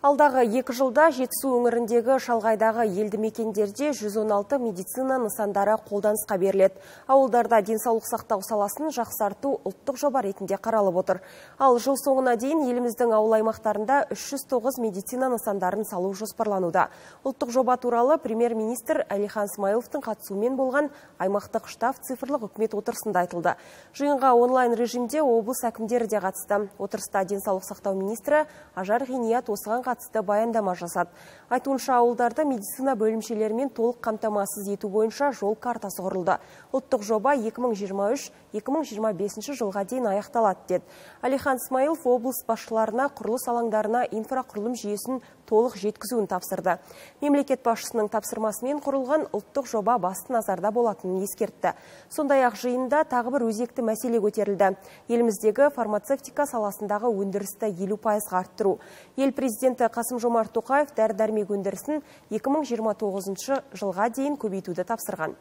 Алдағы 2 жылда Жетісу өңіріндегі шалғайдағы елді мекендерде 116 медицина нысандары қолданысқа беріледі. Ауылдарда денсаулық сақтау саласын жақсарту ұлттық жоба ретінде қаралып отыр. Ал жыл соңына дейін еліміздің ауыл аймақтарында 309 медицина нысандарын салу жоспарлануда. Ұлттық жоба туралы премьер-министр Әлихан Смайыловтың қатысуымен болған аймақтық штаб цифрлық үкімет отырысында айтылды. Жиынға онлайн режимде облыс әкімдері де қатысты. Отырыста денсаулық сақтау министрі Ажар Ғиният осыған қатысты баяндама жасады. Айтуынша ауылдарда медицина бөлімшелерімен толық қамтамасыз ету бойынша жол картасы құрылды. Ұлттық жоба 2023-2025 жылға дейін аяқталады деді. Әлихан Смайылов облыс басшыларына құрылыс алаңдарына инфрақұрылым жүйесін толық жеткізуін тапсырды. Мемлекет басшысының тапсырмасымен құрылған ұлттық жоба басты назарда болатынын ескертті. Сондай-ақ жиында тағы бір өзекті мәселе көтерілді. Еліміздегі фармацевтика саласындағы өндірісті 50% арттыру. Ел президенті Қасым-Жомарт Тоқаев дәрі-дәрмек өндірісін 2029 жылға дейін көбейтуді тапсырған.